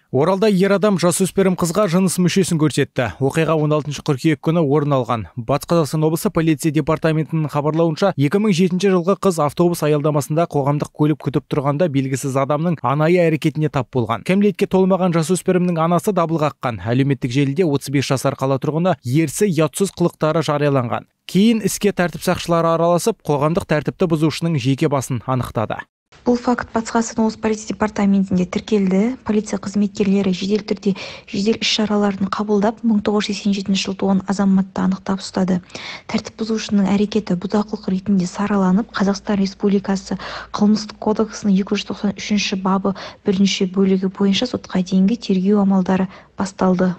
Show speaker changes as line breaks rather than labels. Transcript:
Оралда ер адам жасөспірім қызға жыныс мүшесін көрсетті. Оқиға 16 қыркүйек күні орын алған. Батыс Қазақстан облысы полиция департаментінің хабарлауынша, 2007 жылғы қыз автобус аялдамасында қоғамдық көлік күтіп тұрғанда белгісіз адамның анайы әрекетіне тап болған. Кәмелетке толмаған жасөспірімнің анасы дабыл қаққан. Әлеуметтік желіде 35 жасар қала тұрғыны ерсі ұятсыз қылықтары жарияланған. Кейін іске тәртіп сақшылары араласып, қоғамдық тәртіпті бұзушының жеке басын анықтады.
Бұл факт Батыс Қазақстан облысы полиция департаментінде тіркелді. Полиция қызметкерлері жедел түрде жедел іс-шараларын қабылдап, 1987 жылы туған азаматты анықтап ұстады. Тәртіп бұзушының әрекеті бұзақылық ретінде сараланып, Қазақстан Республикасы Қылмыстық кодексінің 293 бабы 1 бөлігі бойынша сотқа дейінгі тергеу амалдары басталды.